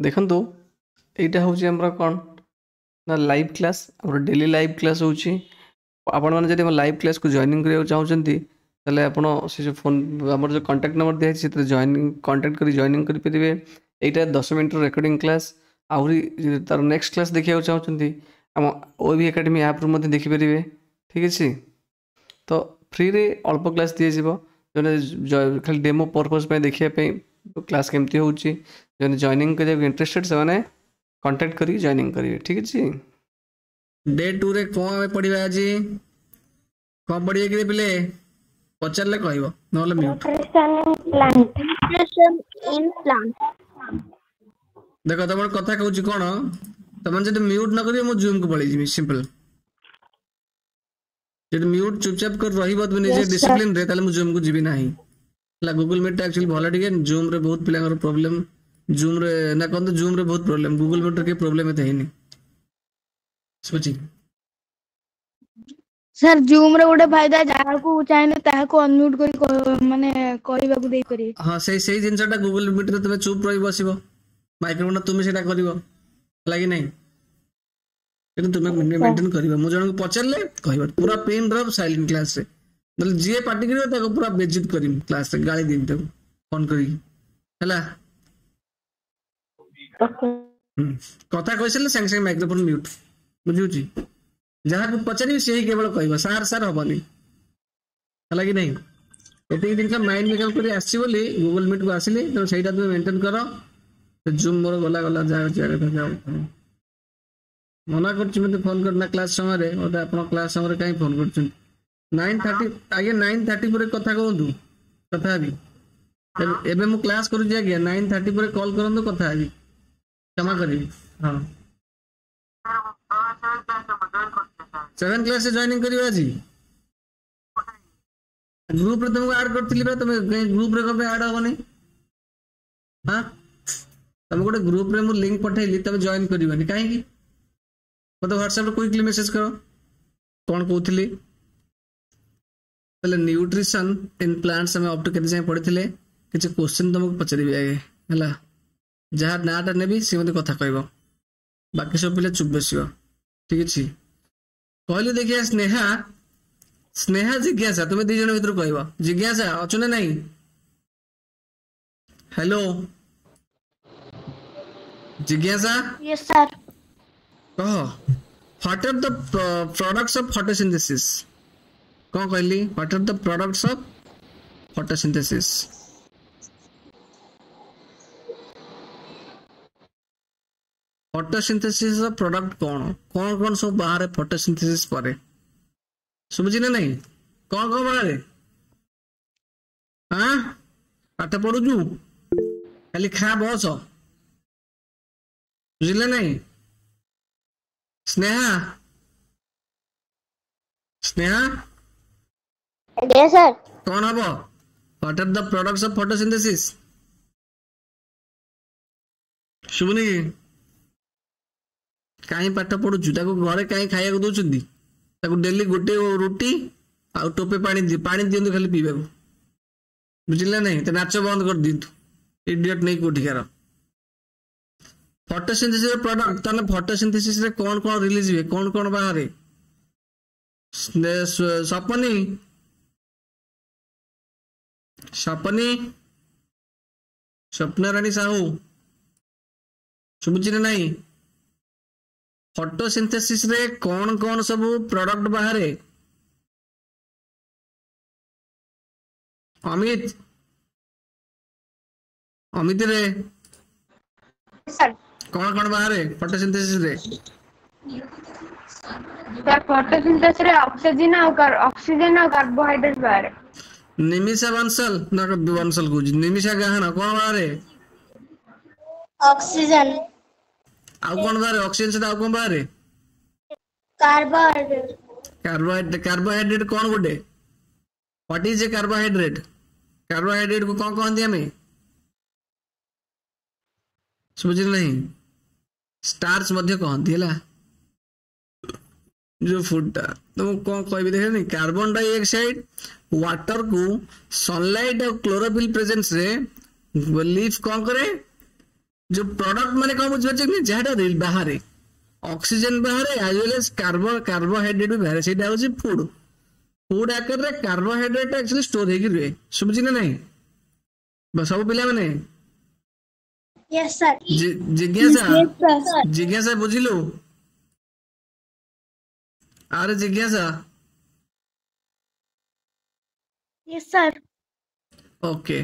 ଦେଖନ୍ତୁ, ଏଇଟା ହେଉଛି ଆମର କ'ଣ ନା ଲାଇଭ୍ କ୍ଲାସ୍। ଆମର ଡେଲି ଲାଇଭ୍ କ୍ଲାସ୍ ହେଉଛି। ଆପଣମାନେ ଯଦି ଆମ ଲାଇଭ୍ କ୍ଲାସ୍କୁ ଜଏନିଂ କରିବାକୁ ଚାହୁଁଛନ୍ତି, ତାହେଲେ ଆପଣ ସେ ଯେଉଁ ଫୋନ୍ ଆମର ଯେଉଁ କଣ୍ଟାକ୍ଟ ନମ୍ବର ଦିଆହେଇଛି, ସେଥିରେ ଜଏନିଂ କଣ୍ଟାକ୍ଟ କରି ଜଏନିଂ କରିପାରିବେ। ଏଇଟା 10 ମିନିଟ୍ର ରେକର୍ଡ଼ିଂ କ୍ଲାସ୍। ଆହୁରି ତାର ନେକ୍ସଟ କ୍ଲାସ୍ ଦେଖିବାକୁ ଚାହୁଁଛନ୍ତି, ଆମ ଓଏଭି ଏକାଡେମୀ ଆପ୍ରୁ ମଧ୍ୟ ଦେଖିପାରିବେ। ଠିକ୍ ଅଛି? ତ ଫ୍ରିରେ ଅଳ୍ପ କ୍ଲାସ୍ ଦିଆଯିବ। ଜଣେ ଖାଲି ଡେମୋ ପର୍ପଜ୍ ପାଇଁ ଦେଖିବା ପାଇଁ କ୍ଲାସ୍ କେମିତି ହେଉଛି, ଜଣେ ଜଏନିଂ କରିବାକୁ ଇଣ୍ଟରେଷ୍ଟେଡ଼, ସେମାନେ କଣ୍ଟାକ୍ଟ କରିକି ଜଏନିଂ କରିବେ। ଠିକ୍ ଅଛି? ଡେ 2 ରେ କ'ଣ ଆମେ ପଢିବା ଆଜି? କ'ଣ ପଢିବେ କି ପିଲେ? ପଚାରିଲେ କହିବ, ନହେଲେ mute. Nutrition in plant. Nutrition in plant. ଦେଖ, ତମର କଥା କହୁଛି କ'ଣ, ତମେ ଯଦି ମ୍ୟୁଟ୍ ନ କରିବ, ମୁଁ ଜୁମ୍ କୁ ପଳେଇଯିବି। ସିମ୍ପଲ। ଯଦି ମ୍ୟୁଟ୍ ଚୁପଚାପ କରି ରହିବ ତୁମେ ନିଜେ Yes, sir. Discipline ରେ, ତାହେଲେ ମୁଁ ଜୁମ୍ କୁ ଯିବି ନାହିଁ। ହେଲା? ଗୁଗୁଲ ମିଟ୍ ଟା ଆକ୍ଚୁଆଲି ଭଲ ଟିକେ। ଜୁମ୍ ରେ ବହୁତ ପିଲାଙ୍କର ପ୍ରୋବ୍ଲେମ ଜୁମ୍ ରେ ନା କହନ୍ତୁ, ଜୁମ୍ ରେ ବହୁତ ପ୍ରୋବ୍ଲେମ। ଗୁଗୁଲ ମିଟ୍ ରେ କେହି ପ୍ରୋବ୍ଲେମ ଏତେ ହେଇନି। ବୁଝୁଛି? ସାର୍, ଜୁମ୍ ରେ ଗୋଟେ ଫାଇଦା, ଯାହାକୁ ଚାହିଁଲେ ତାହାକୁ ଅନମ୍ୟୁଟ କରି ମାନେ କହିବାକୁ ଦେଇପାରିବେ। ହଁ, ସେଇ ଜିନିଷଟା ଗୁଗୁଲ ମିଟ୍ ରେ ତୁମେ ଚୁପ୍ ରହି ବସିବ, ମାଇକ୍ରୋଫୋନ ତୁମେ ସେଇଟା କରିବ, ହେଲା କି ନାହିଁ? କିନ୍ତୁ ତୁମେ ମେଣ୍ଟେନ କରିବ। ମୁଁ ଜଣଙ୍କୁ ପଚାରିଲେ କହିବ, ପୁରା ପିନ୍ ଡ୍ରପ୍ ସାଇଲେଣ୍ଟ କ୍ଲାସରେ। ନହେଲେ ଯିଏ ପାଟି କରିବ, ତାକୁ ପୁରା ବେଜିତ କରିବି କ୍ଲାସରେ, ଗାଳି ଦେବି ତାକୁ ଫୋନ କରିକି। ହେଲା? Okay. ହୁଁ। କଥା କହିସାରିଲେ ସାଙ୍ଗେ ସାଙ୍ଗେ ମାଇକ୍ରୋଫୋନ ମ୍ୟୁଟ। ବୁଝୁଛି? ଯାହାକୁ ପଚାରିବି, ସେ ହିଁ କେବଳ କହିବ, ସାର୍ ସାର୍ ହବନି। ହେଲା କି ନାହିଁ? ଏତିକି ଜିନିଷ ମାଇଣ୍ଡ ମେକଅପ୍ କରି ଆସିଛି ବୋଲି ଗୁଗଲ ମିଟ୍ କୁ ଆସିଲି। ତେଣୁ ସେଇଟା ତୁମେ ମେଣ୍ଟେନ କର। ଜୁମ୍ ମୋର ଗଲା ଗଲା, ଯାହା ଯିବା କଥା ଯାଉ। ମନା କରୁଛି ମତେ ଫୋନ କରିନା କ୍ଲାସ ସମୟରେ। ମତେ ଆପଣ କ୍ଲାସ ସମୟରେ କାହିଁ ଫୋନ କରୁଛନ୍ତି? 9:30 ଆଜ୍ଞା, 9:30 ପରେ କଥା କୁହନ୍ତୁ, କଥା ହେବି। ଏବେ ମୁଁ କ୍ଲାସ କରୁଛି ଆଜ୍ଞା। 9:30 ପରେ କଲ୍ କରନ୍ତୁ, କଥା ହେବି। କ୍ଷମା କରିବି। ହଁ, 7 କ୍ଲାସରେ ଜଏନିଂ କରିବ ଆଜି। ଗ୍ରୁପରେ ତମକୁ ଆଡ୍ କରିଥିଲି ବା, ତମେ ଗ୍ରୁପରେ କଣ ପାଇଁ ଆଡ୍ ହବନି? ହଁ, ତମେ ଗୋଟେ ଗ୍ରୁପରେ ମୁଁ ଲିଙ୍କ ପଠେଇଲି, ତମେ ଜଏନ୍ କରିବନି କାହିଁକି? ମତେ ହ୍ୱାଟ୍ସଆପରେ କୁଇକଲି ମେସେଜ କର। କଣ କହୁଥିଲି? ତାହେଲେ ନ୍ୟୁଟ୍ରିସନ ଇନ୍ ପ୍ଲାଣ୍ଟସ ଆମେ ଅପ୍ ଟୁ କେତେ ଯାଏଁ ପଢିଥିଲେ? କିଛି କ୍ୱେଶ୍ଚିନ୍ ତମକୁ ପଚାରିବି ଆଗେ, ହେଲା? ଯାହା ନାଁଟା ନେବି, ସେ ମତେ କଥା କହିବ। ବାକି ସବୁ ପିଲା ଚୁପ୍ ବସିବ। ଠିକ ଅଛି? କହିଲେ ଦେଖିଆ। ସ୍ନେହା, ସ୍ନେହା, ଜିଜ୍ଞାସା, ତୁମେ ଦି ଜଣ ଭିତରୁ କହିବ। ଜିଜ୍ଞାସା ଅଛୁ ନା ନାଇଁ? ହ୍ୟାଲୋ ଜିଜ୍ଞାସା। Yes, sir. କହ, what are the products of photosynthesis? କଣ କହିଲି? What are the products of photosynthesis? Photosynthesis ର ପ୍ରଡକ୍ଟ କଣ କଣ କଣ ସବୁ ବାହାରେ ଫଟୋସିନ୍ଥେସିସ୍ ପରେ? ଶୁଭୁଛି ନା ନାଇଁ? କଣ କଣ ବାହାରେ? ଆଁ, ପାଠ ପଢୁଛୁ, ଖାଲି ଖା ବସ। ବୁଝିଲେ ନାଇଁ? ସ୍ନେହା, ସ୍ନେହା। Yes, sir. କଣ ହବ? What are the products of photosynthesis? ଶୁଭୁନି କି? କାହିଁ ପାଠ ପଢୁଛୁ? ତାକୁ ଘରେ କାହିଁ ଖାଇବାକୁ ଦଉଛନ୍ତି? ତାକୁ ଡେଲି ଗୋଟେ ରୁଟି ଆଉ ଟୋପେ ପାଣି ପାଣି ଦିଅନ୍ତୁ ଖାଲି ପିଇବାକୁ। ବୁଝିଲେ ନାଇଁ? ତା ନାଚ ବନ୍ଦ କରିଦିଅନ୍ତୁ। ଇଡିଅଟ ନେଇ କୋଉଠିକାର। ଫଟୋସିନ୍ଥେସିସ୍ ପ୍ରଡକ୍ଟ, ତାହେଲେ ଫଟୋସିନ୍ଥେସିସ୍ ରେ କଣ କଣ ରିଲିଜ ହୁଏ, କଣ କଣ ବାହାରେ? ସପନି, ସପନି, ସ୍ୱପ୍ନାରାଣୀ ସାହୁ, ଶୁଭୁଛି ନା ନାଇଁ? ଫଟୋସିନ୍ଥେସିସ୍ ରେ କଣ କଣ ସବୁ ପ୍ରଡକ୍ଟ ବାହାରେ? ଅମିତ, ଅମିତ ରେ। Sir. କଣ କଣ ବାହାରେ ଫଟୋସିନ୍ଥେସିସ୍ ରେ? ସାର୍, ଫଟୋସିନ୍ଥେସିସ୍ ରେ ଅକ୍ସିଜେନ ଆଉ କାର୍ବୋହାଇଡ୍ରେଟ ବାହାରେ। ନିମିଷା ବଂଶଲ ନା, ବଂଶଲ କହୁଛି, ନିମିଷା ଗାହାଣ, କଣ ବାହାରେ? Oxygen. ଆଉ କଣ ବାହାରେ? ଅକ୍ସିଜେନ ସହିତ ଆଉ କଣ ବାହାରେ? Carbohydrate. Carbohydrate. Carbohydrate କଣ ଗୋଟେ? What is a carbohydrate? Carbohydrate କୁ କଣ କହନ୍ତି ଆମେ? ଶୁଭୁଛି ନା ନାହିଁ? ଷ୍ଟାର୍ଚ ମଧ୍ୟ କହନ୍ତି, ହେଲା? ଯୋଉ ଫୁଡ ଟା, ତ ମୁଁ କଣ କହିବି ଦେଖିନି। କାର୍ବନ ଡାଇଅକ୍ସାଇଡ, ୱାଟର କୁ ସନଲାଇଟ ଆଉ କ୍ଲୋରୋଫିଲ ପ୍ରେଜେନ୍ସ ରେ ଲିଫ କଣ କରେ? ଯୋଉ ପ୍ରଡକ୍ଟ ମାନେ କଣ ବୁଝିପାରୁଛ କି ଯାହାଟା ବାହାରେ ଅକ୍ସିଜେନ ବାହାରେ ଆଜ ୱେଲ ଏଜ କାର୍ବୋହାଇଡ୍ରେଟ ବି ବାହାରେ, ସେଇଟା ହଉଛି ଫୁଡ। ଫୁଡ ଆକାରରେ କାର୍ବୋହାଇଡ୍ରେଟ ଆକ୍ଚୁଆଲି ଷ୍ଟୋର ହେଇକି ରୁହେ। ଶୁଭୁଛି ନା ନାଇଁ ସବୁ ପିଲାମାନେ? Yes sir. ଜିଜ୍ଞାସା, Yes sir. ଜିଜ୍ଞାସା ବୁଝିଲୁ? ଆରେ ଜିଜ୍ଞାସା। Yes sir. Okay.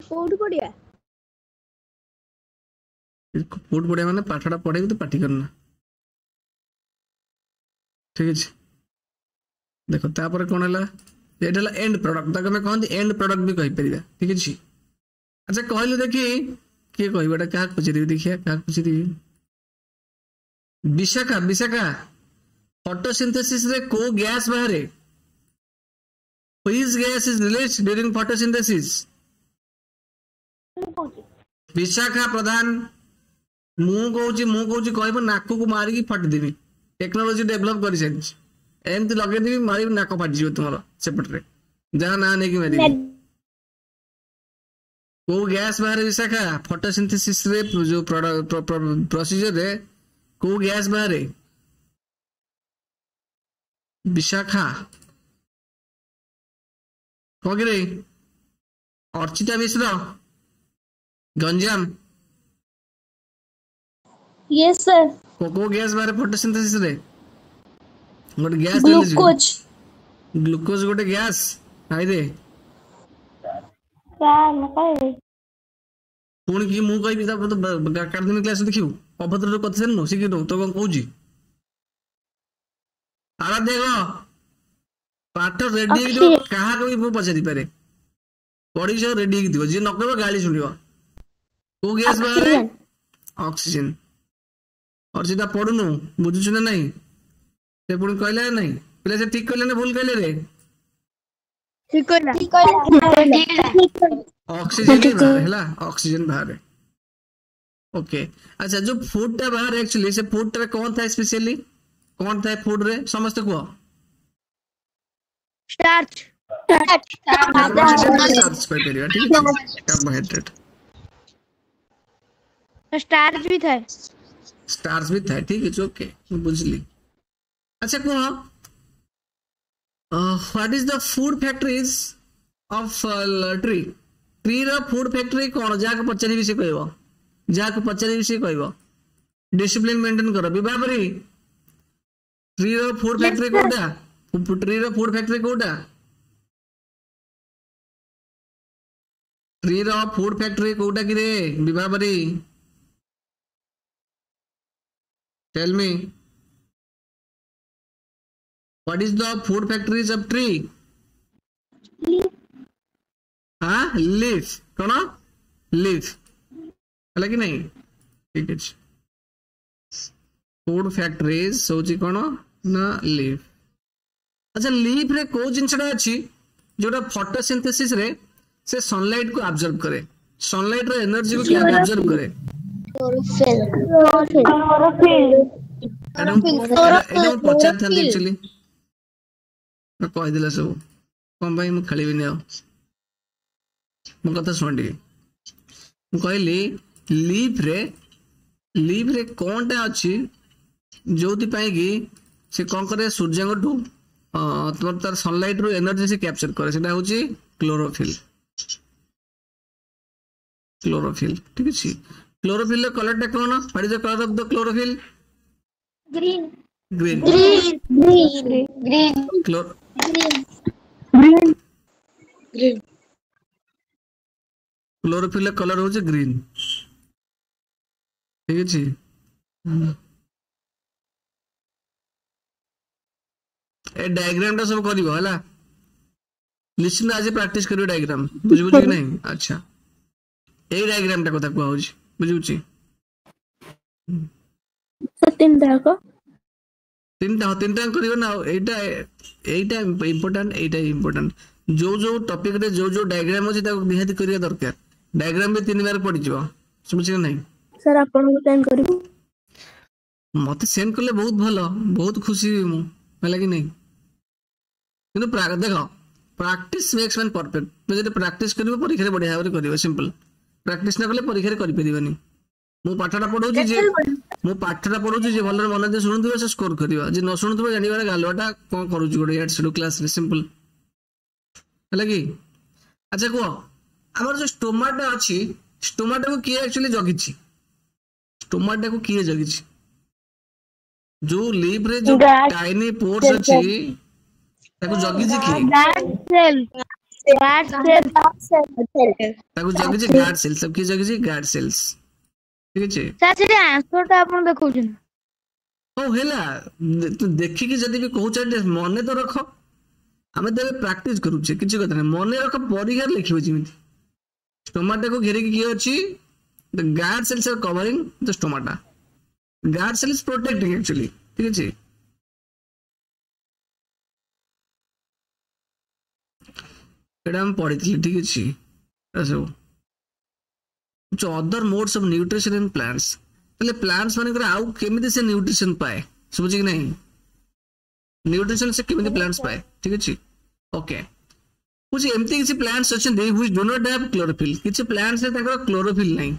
କୋଉଠି ପଢିବା? କୋଉଠି ପଢିବା ମାନେ ପାଠଟା ପଢେଇବି, ତୁ ପାଟି କରନା, ଠିକ ଅଛି? ଦେଖ ତାପରେ କଣ ହେଲା, ଏଇଟା ହେଲା ଏଣ୍ଡ ପ୍ରଡକ୍ଟ, ତାକୁ ଆମେ କହନ୍ତି ଏଣ୍ଡ ପ୍ରଡକ୍ଟ ବି କହିପାରିବା, ଠିକ ଅଛି? ଆଚ୍ଛା କହିଲୁ ଦେଖି କିଏ କହିବ ଏଟା, କାହାକୁ ପଚାରିବି ଦେଖିଆ, କାହାକୁ ପଚାରିବି? ବିଶାଖା, ବିଶାଖା ଫଟୋସିନ୍ଥେସିସ ରେ କୋଉ ଗ୍ୟାସ ବାହାରେ? Which gas is released during photosynthesis? Vishakha Pradhan, ମୁଁ କହୁଛି, ମୁଁ କହୁଛି କହିବ ନାକକୁ ମାରିକି ଫାଟିଦେବି। ଟେକ୍ନୋଲୋଜି ଡେଭଲପ କରିସାରିଛି, ଏମିତି ଲଗେଇଦେବି ମାରିବି ନାକ ଫାଟିଯିବ ତୁମର ସେପଟରେ, ଯାହା ନାଁ ନେଇକି ମାରିବି। କୋଉ ଗ୍ୟାସ ବାହାରେ ବିଶାଖା ଫଟୋସିନ୍ଥେସିସ ରେ, ଯୋଉ ପ୍ରୋସିଜର ରେ କୋଉ ଗ୍ୟାସ ବାହାରେ ବିଶାଖା? କଣ କିରେ ଅର୍ଚିତା ମିଶ୍ର, ଗଞ୍ଜାମ? Yes sir. କୋଉ ଗ୍ୟାସ ବାହାରେ ଫଟୋସିନ୍ଥେସିସ ରେ? ଗୋଟେ ଗ୍ୟାସ। ଗ୍ଲୁକୋଜ। ଗ୍ଲୁକୋଜ ଗୋଟେ ଗ୍ୟାସ? ହାଇରେ। ସାର୍ ମୁଁ କହିବି। ପୁଣି କି ମୁଁ କହିବି, ତାପରେ ତ କାର୍ଦିନ କ୍ଲାସ ଦେଖିବୁ। ଅଭଦ୍ର କଥା ଶୁଣୁ, ଶିଖିନୁ ତ କଣ କହୁଛି? ଆରାଧ୍ୟ କହ, ପାଠ ରେଡି ହେଇକି ଥିବ, କାହାକୁ ବି ମୁଁ ପଚାରି ପାରେ, ପଢିକି ସବୁ ରେଡି ହେଇକି ଥିବ, ଯିଏ ନ କହିବ ଗାଳି ଶୁଣିବ। କୋଉ ଗ୍ୟାସ ବାହାରେ? ଅକ୍ସିଜେନ। ଅର୍ଚିତା ପଢୁନୁ, ବୁଝୁଛୁ ନା ନାଇଁ? ସେ ପୁଣି କହିଲା ନା ନାଇଁ ପିଲା, ସେ ଠିକ କହିଲେ ନା ଭୁଲ କହିଲେ ରେ? ଠିକ କହିଲା। ଅକ୍ସିଜେନ ହିଁ ବାହାରେ, ହେଲା ଅକ୍ସିଜେନ ବାହାରେ। ଓକେ, ଆଚ୍ଛା ଯୋଉ ଫୁଡ ଟା ବାହାରେ ଆକ୍ଚୁଆଲି ସେ ଫୁଡ ଟାରେ କଣ ଥାଏ ସ୍ପେସିଆଲି, କଣ ଥାଏ ଫୁଡ ରେ? ସମସ୍ତେ କୁହ। ଷ୍ଟାର୍ଚ। କାର୍ବୋହାଇଡ୍ରେଟ, ଷ୍ଟାର୍ଚ କହିପାରିବା, ଠିକ ଅଛି, କାର୍ବୋହାଇଡ୍ରେଟ। ଷ୍ଟାର୍ଚ ବି ଥାଏ। ଷ୍ଟାର୍ଚ ବି ଥାଏ, ଠିକ ଅଛି, ଓକେ ମୁଁ ବୁଝିଲି। ଆଚ୍ଛା କୁହ, what is the food factories of tree? Tree ର ଫୁଡ ଫ୍ୟାକ୍ଟ୍ରି କଣ? ଯାହାକୁ ପଚାରିବି ସେ କହିବ, ଯାହାକୁ ପଚାରିବି ସେ କହିବ। ଡିସିପ୍ଲିନ ମେଣ୍ଟେନ କର। ବିଭାବରୀ, ଟ୍ରି ର ଫୁଡ ଫ୍ୟାକ୍ଟ୍ରି କୋଉଟା? ଟ୍ରି ର ଫୁଡ ଫ୍ୟାକ୍ଟ୍ରି କୋଉଟା? ଟ୍ରି ର ଫୁଡ ଫ୍ୟାକ୍ଟ୍ରି କୋଉଟା କିରେ Bibhabari? Tell me, what is the food factories of tree? ହଁ, leaf। କଣ leaf ହେଲା କି ନାଇଁ? ଠିକ ଅଛି, ଫୁଡ ଫ୍ୟାକ୍ଟ୍ରିଜ ହଉଛି କଣ ନା ଲିଫ। ଆଚ୍ଛା ଲିଫ ରେ କୋଉ ଜିନିଷଟା ଅଛି ଯୋଉଟା ଫଟୋସିନ୍ଥେସିସ ରେ ସେ ସନଲାଇଟ କୁ ଆବଜର୍ବ କରେ, ସନଲାଇଟ ର ଏନର୍ଜି କୁ ଆବଜର୍ବ କରେ? ଏଇଟା ମୁଁ ପଚାରିଥାନ୍ତି ଆକ୍ଚୁଆଲି, କହିଦେଲା ସବୁ, କଣ ପାଇଁ ମୁଁ ଖେଳିବିନି ଆଉ। ମୋ କଥା ଶୁଣ ଟିକେ, ମୁଁ କହିଲି ଲିଫରେ, ଲିଫରେ କଣଟା ଅଛି ଯୋଉଥିପାଇଁ କି ସେ କଣ କରେ, ସୂର୍ଯ୍ୟଙ୍କଠୁ ତୁମର ତାର ସନଲାଇଟ ରୁ ଏନର୍ଜି ସେ କ୍ୟାପଚର କରେ, ସେଟା ହଉଛି କ୍ଲୋରୋଫିଲ। କ୍ଲୋରୋଫିଲ, ଠିକ ଅଛି। କ୍ଲୋରୋଫିଲ ର କଲରଟା କଣ? What is the colour of the chlorophyll? Green. Green. Green. Green. Chlorophyll ର କଲର ହଉଛି ଗ୍ରୀନ, ଠିକ ଅଛି। ଏ ଡାଇଗ୍ରାମ ଟା ସବୁ କରିବ ହେଲା, ନିଶ୍ଚିନ୍ତ ଆଜି ପ୍ରାକ୍ଟିସ କରିବ ଡାଇଗ୍ରାମ, ବୁଝିବୁଛି କି ନାହିଁ? ଆଚ୍ଛା ଏଇ ଡାଇଗ୍ରାମ ଟା କଥା କୁହା ହଉଛି, ବୁଝିବୁଛି? ତିନିଟା, ହଁ ତିନିଟା କରିବ ନା। ଏଇଟା ଏଇଟା ଇମ୍ପୋର୍ଟାଣ୍ଟ, ଏଇଟା ଇମ୍ପୋର୍ଟାଣ୍ଟ। ଯୋଉ ଯୋଉ ଟପିକ ରେ ଯୋଉ ଯୋଉ ଡାଇଗ୍ରାମ ଅଛି ତାକୁ ନିହାତି କରିବା ଦରକାର। ଡାଇଗ୍ରାମ ବି 3 ମାର୍କ ପଡିଯିବ। ଶୁଭୁଛି କି ନାହିଁ? ସାର୍, ଆପଣଙ୍କୁ ସେଣ୍ଡ କରିବୁ? ମତେ ସେଣ୍ଡ କଲେ ବହୁତ ଭଲ, ବହୁତ ଖୁସି ହେବି ମୁଁ, ହେଲା କି ନାହିଁ? କିନ୍ତୁ ଦେଖ, ପ୍ରାକ୍ଟିସ ମେକ୍ସ ମ୍ୟାନ୍ ପରଫେକ୍ଟ। ତୁମେ ଯଦି ପ୍ରାକ୍ଟିସ କରିବ, ପରୀକ୍ଷାରେ ବଢିଆ ଭାବରେ କରିବ। ସିମ୍ପଲ। ପ୍ରାକ୍ଟିସ ନ କଲେ ପରୀକ୍ଷାରେ କରିପାରିବନି। ମୁଁ ପାଠଟା ପଢଉଛି ଯେ, ମୁଁ ପାଠଟା ପଢଉଛି ଯେ ଭଲରେ ମନ ଦେଇ ଶୁଣୁଥିବ, ସେ ସ୍କୋର କରିବ। ଯେ ନ ଶୁଣୁଥିବ, ଜାଣିବାର ଗାଲୁଆଟା କଣ କରୁଛି ଗୋଟେ ଇଆଡୁ ସିଆଡୁ କ୍ଲାସରେ। ସିମ୍ପଲ, ହେଲା କି? ଆଚ୍ଛା କୁହ, ଆମର ଯୋଉ ଷ୍ଟୋମାଟା ଅଛି, ଷ୍ଟୋମାଟାକୁ କିଏ ଆକ୍ଚୁଆଲି ଜଗିଛି? ଷ୍ଟୋମାଟାକୁ କିଏ ଜଗିଛି? ଯୋଉ ଲିଭ୍ ରେ ଯୋଉ ଗାର୍ଡ ଟାଇନି ପୋର୍ସ ଅଛି, ତାକୁ ଜଗିଛି କିଏ? Guard cell, guard cell. ତାକୁ ଜଗିଛି ଗାର୍ଡ ସେଲ୍ସ। ତାକୁ କିଏ ଜଗିଛି? ଗାର୍ଡ ସେଲ୍ସ, ଠିକ ଅଛି? ସାର୍, ସେଠି ଆନ୍ସର ଟା ଆପଣ ଦେଖଉଛନ୍ତି। ହଉ ହେଲା, ତୁ ଦେଖିକି ଯଦି ବି କହୁଛ, ଟିକେ ମନେ ତ ରଖ। ଆମେ ତ ଏବେ ପ୍ରାକ୍ଟିସ କରୁଛେ, କିଛି କଥା ନାହିଁ, ମନେ ରଖ, ପରୀକ୍ଷାରେ ଲେଖିବ ଯେମିତି। ଷ୍ଟୋମାଟାକୁ ଘେରିକି କିଏ ଅଛି? The guard cells are covering the stomata. Guard cell is protecting actually, ଠିକ ଅଛି? ଏଇଟା ଆମେ ପଢିଥିଲେ, ଠିକ ଅଛି? ଏଟା ସବୁ other modes of nutrition in plants. ତାହେଲେ ପ୍ଲାଣ୍ଟସ ମାନଙ୍କର ଆଉ କେମିତି ସେ ନ୍ୟୁଟ୍ରିସନ ପାଏ? ଶୁଭୁଛି କି ନାହିଁ? ନ୍ୟୁଟ୍ରିସନ ସେ କେମିତି ପ୍ଲାଣ୍ଟସ ପାଏ, ଠିକ ଅଛି? ଓକେ, ବୁଝି, ଏମିତି କିଛି ପ୍ଲାଣ୍ଟସ ଅଛନ୍ତି which do not have chlorophyll. କିଛି ପ୍ଲାଣ୍ଟସ ରେ ତାଙ୍କର କ୍ଲୋରୋଫିଲ୍ ନାହିଁ।